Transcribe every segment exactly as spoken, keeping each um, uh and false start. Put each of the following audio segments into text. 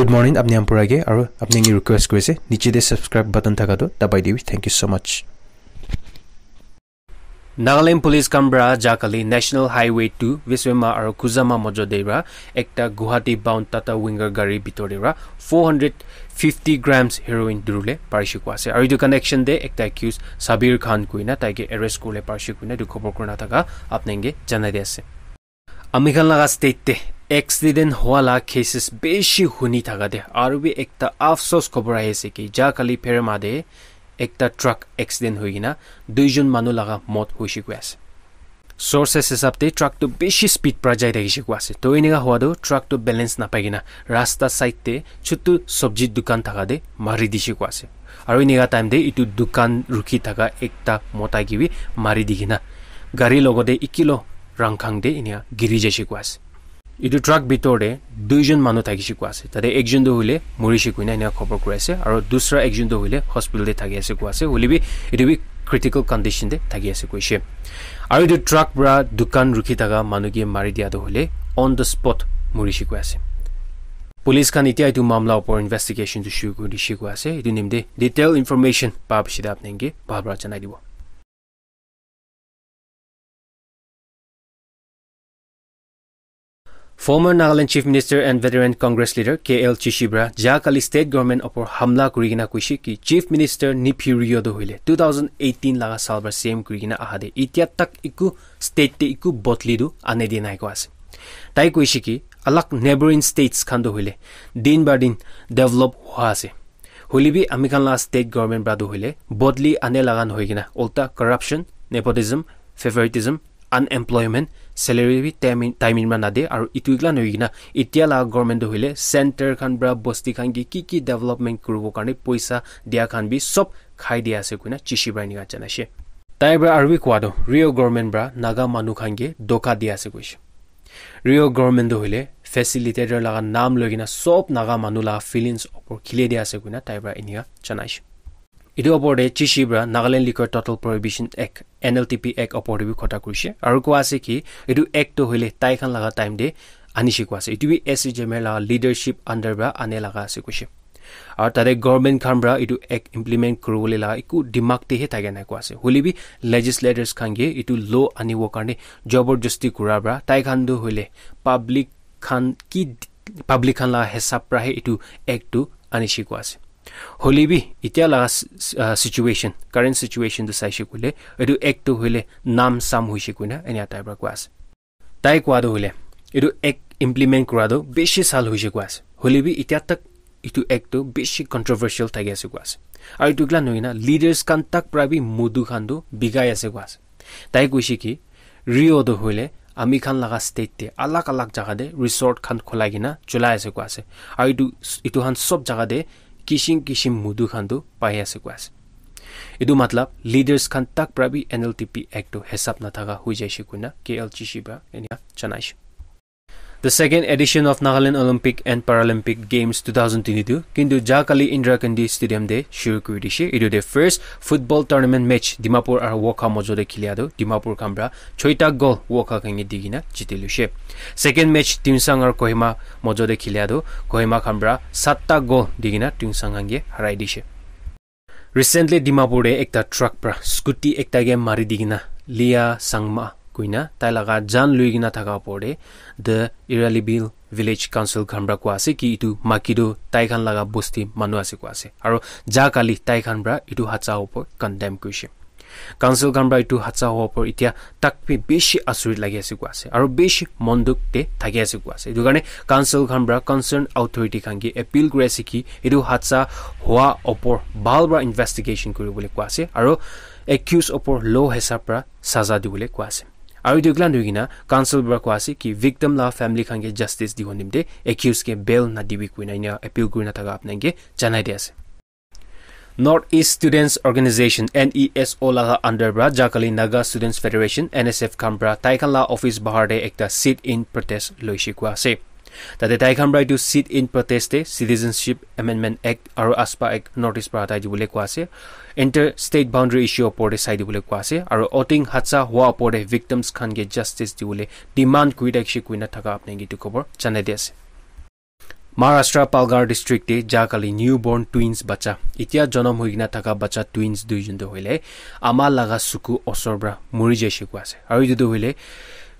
Good morning, apni khan pura ke, aru apni khan ke request kuri ase, niche te subscribe button thaka tu dabai dibi. Thank you so much. Nagaland Police khan para jahkali National Highway two Viswema aru Kuzama mojo de para ekta Guwahati bound Tata Winger gari bitor de para four hundred fifty grams heroin durule parishe koi ase. Aru etu connection de ekta accused Sabir Khan koina tai ke arrest kurule parishe koina etu khobor kurina thaka apni khan ke janai di ase. Ami khan laga state te accident hua la cases bishi huni thaka de aru bi ekta afsos khobor ahi ase ki jahkali Pherema de ekta truck accident hoi kena duijon manu laga mot hoishe koi ase. Sources hisab te truck tu bishi speed para jai thakishe koi ase. To eneka hua tu truck tu balance napai kena rasta side te chutu sobji dukan thaka de mari dishe koi ase. Aru eneka time te etu dukan rukhi thaka ekta mota ke bi mari di kena gari logote ekilo rangkhang te eneka giri jaishe koi ase. Etu truck bitor te duijon manu thakishe koi ase. Tate ekjon tu hoile morishe koina eneka khobor kuri ase. Aru dusra ekjon tu hoile hospital te thaki ase koi ase. Hoile bi etu bi critical condition te thaki ase koishe. Aru etu truck para dukan rukhi thaka manu ke mari dia tu hoile on the spot morishe koi ase. Police khan etia etu mamla opor investigation tu shuru kuri dishe koi ase. Etu nimte detail information pa piche te apni ke bhal para janai dibo. Former Nagaland Chief Minister and veteran Congress leader K L Chishi para jahkali state government opor hamla kuri kena koishe ki Chief Minister Neiphiu Rio tu hoile two thousand eighteen laga saal para C M kuri kena aha de etia tak eku state te eku bodli tu ane dia nai koi ase. Tai koishe ki alag neighboring states khan tu hoile din ba din develop hua ase. Hoile bi ami khan la state government para tu hoile bodli ane laga nohoi kena ulta corruption, nepotism, favoritism, unemployment, salary bi time in, time in ma nade aru etu ekla nohoi kena etia la government tu hoile center khan para bosti khan ke ki ki development kuribo karne poisa dia khan bi sob khai dia ase koina Chishi para eneka janai she. Tai para aru bi koi tu Rio government para Naga manu khan ke dhoka dia ase koishe. Rio government tu hoile facilitator laga naam loi kena sob Naga manu laga feelings opor khili dia ase koina tai para eneka janai she. Etu opor te Chishi para Nagaland Liquor Total Prohibition Act, N L T P Act opor te bi kotha kurishe. Aru koi ase ki etu act tu hoile tai khan laga time te anishe koi ase. Etu bi S C Jame laga leadership under para ane laga ase koishe. Aru tate government khan para etu act implement kuribole laga eku dimag te he thake nai koi ase. Hoile bi legislators khan ke etu law anibo karne jabardasti kura para tai khan tu hoile public khan ki public khan laga hisab para he etu act tu anishe koi ase. Hoile bi etia laga s-, s-, ah, situation, current situation tu saishe koile etu act tu hoile naam saam hoishe koina enia tai para koi ase. Tai koi tu hoile etu act implement kura tu bishi saal hoishe koi ase. Hoile bi etia tak etu act tu bishi controversial thaki ase koi ase. Aru etu ekla nohoi kena leaders khan tak para bi mudu khan tu bigai ase koi ase. Tai koishe ki Rio tu hoile ami khan laga state te alag alag jaga te resort khan khulai kena cholai ase koi ase. Aru etu, etu khan sob jaga te kishim kishim mudu khan tu pai ase koi ase. Etu matlab leaders khan tak para bi N L T P Act tu hisab nathaka hoi jaishe koina K L Chishi para eneka janai she. The second edition of Nagaland Olympic and Paralympic Games two thousand twenty-two kintu jahkali Indira Gandhi Stadium te shuru kuri dishe. Etu te first football tournament match Dimapur aru Wokha mojo te khilia tu Dimapur khan para choita goal Wokha khan ke di kena jiti loishe. Second match Tuensang aru Kohima mojo te khilia tu Kohima khan para satta goal di kena Tuensang khan ke harai dishe. Recently Dimapur te ekta truck para scooty ekta ke mari di kena Lia Sangma koina tai laga jaan lui kena thaka opor te the Iralibil village council khan para koi ase ki etu maki tu tai khan laga bosti manu ase koi ase. Aru jahkali tai khan para etu hadsa opor condemn kurishe. Council khan para etu hadsa hua opor etia tak bi bishi asurit lagi ase koi ase. Aru bishi mon dukh te thaki ase koi ase. Etu karne council khan para concerned authority khan ke appeal kuri ase ki etu hadsa hua opor bhal para investigation kuribole koi ase. Aru accused opor law hisab para saza dibole koi ase. Aru etu ekla nohoi kena council para koi ase ki victim la family khan ke justice dibo nimite accused ke bail nadibi koina enia appeal kurina thaka apni khan ke janai di ase. North East Students Organization, N E S O laga under para jahkali Naga Students Federation, N S F khan para tai khan la office bahar te ekta sit-in protest loishe koi ase. Tate tai khan para etu sit-in protest te Citizenship Amendment Act aru AFSPA Act notice para hatai dibole koi ase. Inter state boundary issue opor te sai dibole koi ase aru Oting hadsa hua opor te victims khan ke justice dibole demand kuri thakishe koina thaka apni khan ke etu khobor janai di ase. Maharashtra Palghar district te ja kali newborn twins bacha, itia jonom hoi kena thaka bacha twins duijon tu hoile ama laga suku osor pra muri jaise koi ase. Aru etu tu hoile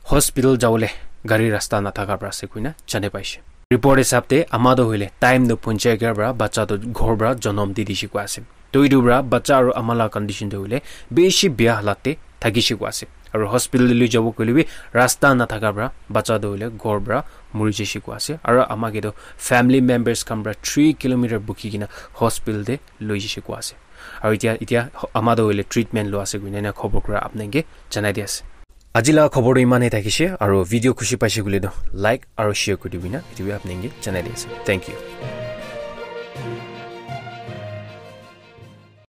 hospital jawole gari rasta nathaka pra ase koina jane paise. Report hisab te ama tu hoile time tu ponchai kar pra bacha tu ghor pra jonom di dise koi ase. To etu pra bacha aru ama la condition tu hoile bishi bia halat te thakise koi ase. Aru hospital te lui jabo koile bi rasta nathaka pra bacha tu hoile ghor pra muri jaise koi ase. Aru ama ke tu family members khan pra three kilometer bukhi kena hospital te lui jaise koi ase. Aru itia, itia ama tu hoile treatment lo ase koina ena khobor kura apnai ke janai di ase. Aji la khobor tu iman he thakise, aru video khushi paise koile tu like aru share kuri dibi na, etu bi apnai ke janai di ase. Thank you.